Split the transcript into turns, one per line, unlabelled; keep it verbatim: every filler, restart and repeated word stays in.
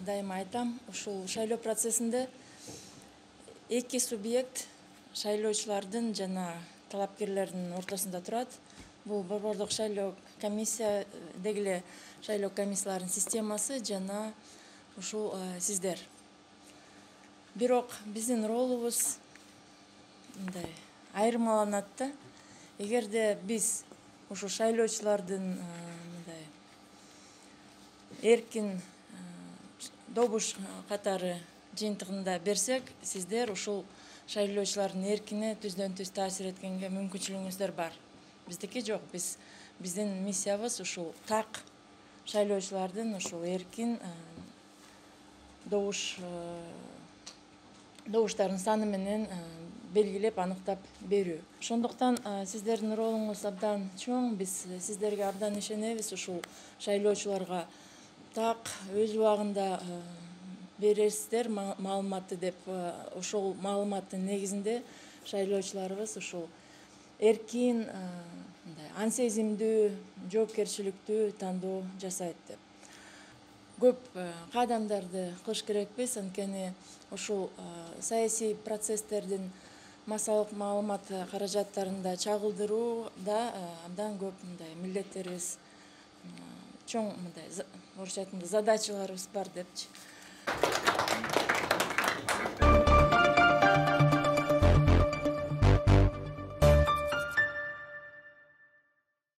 Дайыма айтам, ушул шайлоо процессинде эки субъект шайлоочулардын жана талапкерлердин ортосунда турат. Бул борбордук шайлоо комиссия деги эле шайлоо комиссияларынын системасы жана ушул сиздер. Бирок биздин ролубуз мындай айырмаланат да. Эгерде биз ушул шайлоочулардын мындай эркин добуш катары жыйынтыгында берсек, сиздер ушул шайлоочулардын эркине түздөн түз таасир эткенге мүмкүнчүлүгүңүздөр бар. Биздики жок. Биз биздин миссиябыз ушул так шайлоочулардын ушул эркин добуш добуштардын саны менен белгилеп, аныктап берүү. Ошондуктан сиздердин ролуңуз абдан чоң. Биз сиздерге абдан ишенебиз. Ушул шайлоочуларга так өз убагында бересиздер маалыматты деп, ошол маалыматтын негизинде шайлоочуларыбыз ушул эркин, ансезимдүү, жоопкерчиликтүү тандоо жасайт деп. Көп каадамдарды кылыш керекпиз, анткени ушул саясий процесстердин массалык маалымат каражаттарында чагылдырууда абдан көп мындай милдеттерибиз, чоң мындай орусча айтканда задачаларыбыз бар депчи.